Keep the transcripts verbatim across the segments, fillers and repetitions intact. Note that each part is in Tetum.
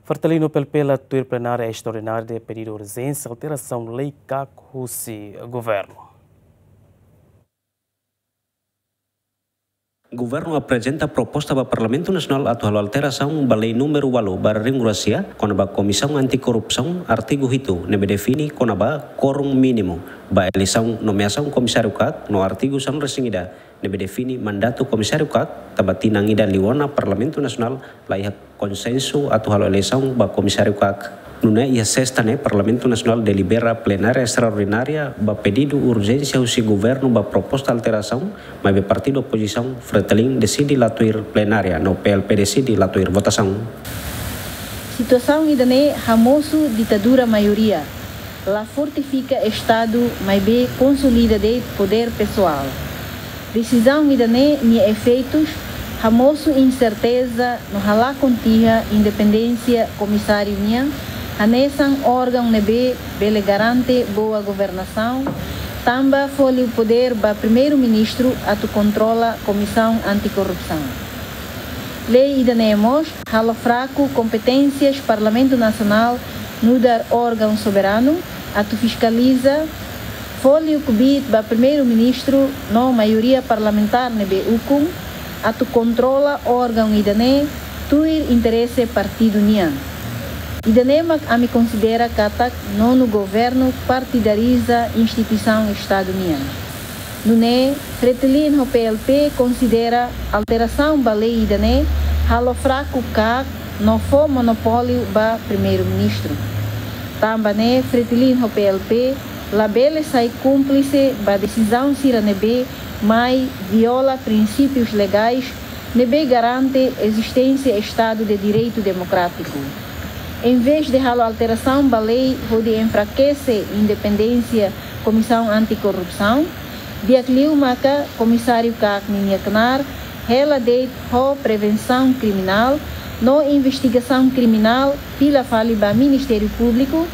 Fretilin no PLP la tuir plenária estraordinária de pedidu urjénsia alterasaun lei KAK husi governu. Governu aprezenta proposta ba Parlamentu Nasionál atu halo alterasaun ba lei númeru ualu barra ringu rasia, kona-ba Komisaun Anti-Korrupsaun, artigu hitu, ne'ebé define kona-ba kórum mínimu ba eleisaun nomeasaun komisáriu KAK, no artigu sanulu-resin-ida, ne'ebé define mandatu komisáriu KAK, tanba tinan ida liu ona Parlamentu Nasionál la iha konsensu atu halo eleisaun ba komisáriu KAK. Nune'e iha sesta ne'e Parlamentu Nasionál delibera plenária estraordinária ba pedidu urjénsia husi governu ba proposta alterasaun, maibé partidu opozisaun Fretilin deside la tuir plenária, no PLP deside la tuir votasaun. Situasaun ida-ne'e hamosu ditadura maioria, la fortifika Estadu, maibé konsolida de'it podér pesoál. Desizaun ida-ne'e nia efeitus hamosu inserteza no halakon tiha independénsia komisáriu nian, hanesan órgaun ne'ebé bele garante boa governasaun, tanba fó liu podér ba Primeiru-Ministru atu kontrola Komisaun Anti-Korrupsaun. Lei ida-ne'e mós halo fraku kompeténsias Parlamentu Nasionál nu'udar órgaun soberanu atu fiskaliza, fó liu kbiit ba Primeiru-Ministru no maioria parlamentár ne'ebé ukun atu kontrola órgaun ida-ne'e tuir interese partidu nian. Ida-ne'e mak ami konsidera katak nonu governu partidariza instituisaun Estadu nian. Nune'e, Fretilin ho PLP konsidera alterasaun ba lei ida-ne'e halo fraku KAK no fó monopóliu ba Primeiru-Ministru. Tanba ne'e, Fretilin ho PLP labele sai kúmplise ba desizaun sira ne'ebé mai viola prinsípius legais ne'ebé garante ezisténsia Estadu de Direitu Demokrátiku. Envezde halo alterasaun ba lei hodi enfrakese independénsia Komisaun Anti-Korrupsaun, di'ak liu maka Komisáriu KAK ninia knaar hela de'it ho prevensaun kriminál no investigasaun kriminál fila fali ba Ministériu Públiku,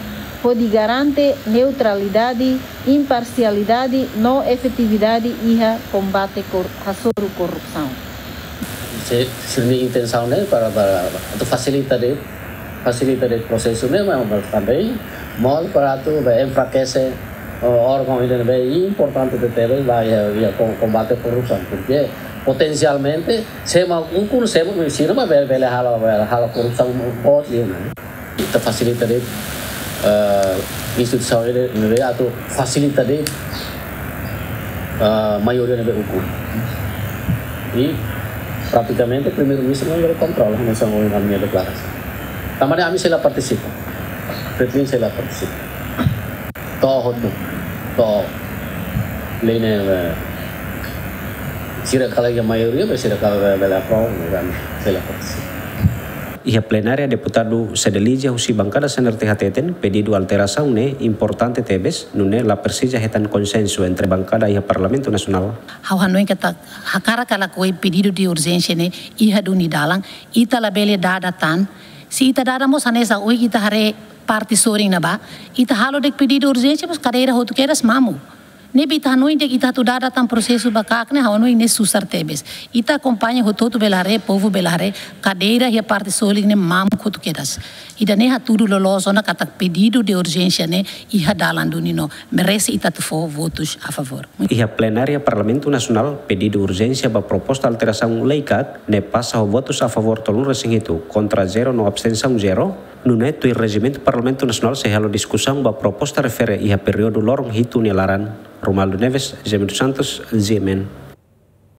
hodi garante neutralidade, imparsialidade no efetividade iha kombate kor-, hasoru korrupsaun. Se, sira-nia intensaun ne'e para, para atu fasilita de'it, fasilita de'it prosesu ne'e, mas, mas também mós para atu, eh, enfrakese, eh, órgaun ida ne'ebé importante tebes ba iha, iha ko-, kombate korrupsaun, porque potensialmente, se ema ukun, se ema sira mak bele, bele halo, bele halo korrupsaun boot liu, ne'e. Ita fasilita de'it, eh, instituisaun ida ne'ebé atu fasilita de'it, eh, maioria ne'ebé ukun. I pratikamente Primeiru-Ministru mak bele kontrola, hanesan ohin ami-nia deklarasaun. Tanba ne'e ami sei la partisipa. Fretilin sei la partisipa. To'o hotu, to'o lei ne'e, eh, sira kala iha maioria, be sira kala bele, bele aprova, ne'e ami sei la partisipa. Iha plenária, deputadu Cedelizia husi bankada CNRT hateten, pedidu alterasaun ne'e importante tebes, nune'e la presiza hetan konsensu entre bankada iha Parlamentu Nasionál. Ha'u hanoin katak hakarak ka lakohi, pedidu de urjénsia ne'e iha duni dalan, ita labele dada tan. Se ita dada mós hanesan ohin ita haree parte sorin ne'ebá, ita halo de'it pedidu urjénsia, mas kadeira hotu kedas mamuk. Ne'ebé ita hanoin de'it ita atu dada tan prosesu ba KAK ne'e, ha'u hanoin ne'e susar tebes. Ita akompaña hotu-hotu bele haree, povu bele haree, kadeira iha parte sorin ne'e mamuk hotu kedas. Ida-ne'e hatudu loloos ona katak pedidu de urjénsia ne'e iha dalan duni no merese ita atu fó votus a favór. Iha plenária Parlamentu Nasionál, pedidu urjénsia ba proposta alterasaun lei KAK ne'e pasa ho votus a favór tolunulu-resin-hitu, kontra zero no abstensaun zero, nune'e tuir rejimentu Parlamentu Nasionál sei halo diskusaun ba proposta refere iha períodu loron hitu nia laran. Romualdo Neves, Jemino Santos, G M N.